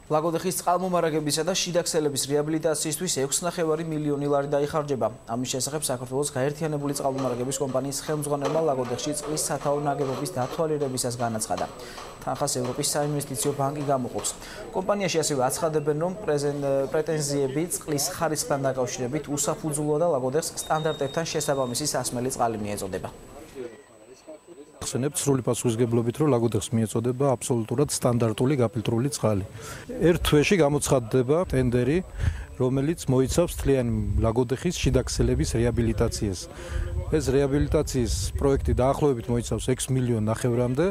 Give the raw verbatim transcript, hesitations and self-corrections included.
ლაგოდეხის წყალმომარაგებისა და შიდაქსელების რეაბილიტაციისთვის ექვსი ნახევარი მილიონი ლარი დაიხარჯება. ამის შესახებ საქართველოს გაერთიანებული წყალმომარაგების კომპანიის ხელმძღვანელმა ლაგოდეხში წყლის სათაო ნაგებობის დათვალიერებისას განაცხადა. თანხას ევროპის საინვესტიციო ბანკი გამოყოფს. კომპანიაში ასევე აცხადებენ, რომ პრეტენზიები წყლის ხარისხთან დაკავშირებით უსაფუძვლოა და ლაგოდეხს სტანდარტებთან შესაბამისი სასმელი წყალი მიეწოდება. ხსენებთ სრული პასუხისმგებლობით, რომ ლაგოდეხს მიეწოდება აბსოლუტურად სტანდარტული გაფილტრული წყალი. ერთ თვეში გამოცხადდება ტენდერი, რომელიც მოიცავს მთლიანი ლაგოდეხის შიდაქსელების რეაბილიტაციას. ეს რეაბილიტაციის პროექტი დაახლოებით მოიცავს ექვს მილიონ ნახევრამდე.